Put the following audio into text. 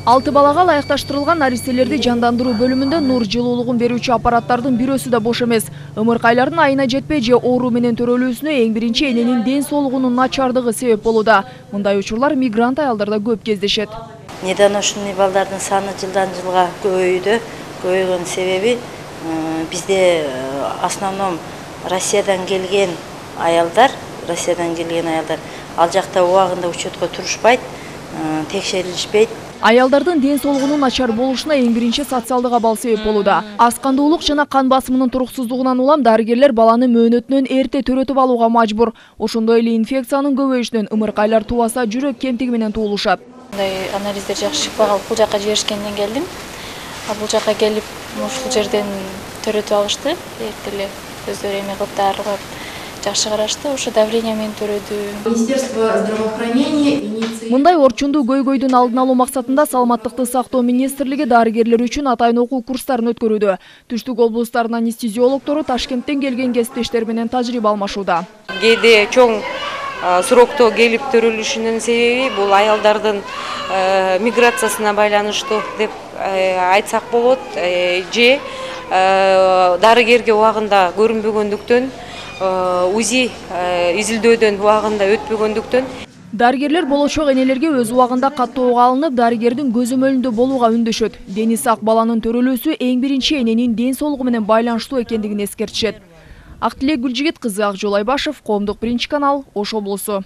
6 балага ылайыкташтырылган нариселерди жандандыруу бөлүмүндө нур жылуулугун берүүчү аппараттардын бирөөсү да бош эмес. Ымыркайлардын айына жетпей же оору менен төрөлүүсүнө эң биринчи эненин ден соолугунун начардыгы себеп болууда. Мындай учурлар мигрант аялдарда көп кездешет. Недоношенный балдардын саны жылдан жылга көбөйүүдө. Көбөйгөн себеби бизде основном Россиядан келген аялдар, ал жакта убагында учетко турушпайт, текшерилишпейт. Аялдардын ден соолугунун начар болушуна эң биринчи социалдык абал себеп болууда. Аз кандуулук жана кан басымынын туруксуздугунан улам дарыгерлер баланы мөөнөтүнөн эрте төрөтүп алууга мажбур. Ошондой эле инфекциянын көбөйүшүнөн ымыркайлар тубаса жүрөк кемтиги менен туулушат. Мындай анализдер жакшы чыкпай калып, бул жака жиберишкенден келдим. Бул жака келип, ушул жерден төрөтүп алышты. Эрте эле өздөрү эме кылып дарылап жакшы карашты. Ошо давление менен төрөдү. Министерство здравоохранения Мындай орчундуу көйгөйдүн алдын алуу максатында Саламаттыкты сактоо министрлиги дарыгерлер үчүн атайын окуу курстарын өткөрүүдө. Түштүк облустарынын анестезиологдору Ташкенттен келген кесиптештер менен тажрыйба алмашууда. Кээде чоң срокто келип төрөлүшүнүн себеби бул аялдардын миграциясына байланыштуу деп айтсак болот, же дарыгерге убагында көрүнбөгөндүктөн, УЗИ изилдөөдөн убагында өтпөгөндүктөн. Дарыгерлер болочок энелерге өз убагында каттоого алынып, дарыгердин көзөмөлүндө болууга үндөшөт. Дени сак баланын төрөлүүсү эң биринчи эненин ден соолугу менен байланыштуу экендигин эскертишет. Актилек Гүлжигит кызы, Акжол Айбашев, Коомдук биринчи канал, Ош облусу.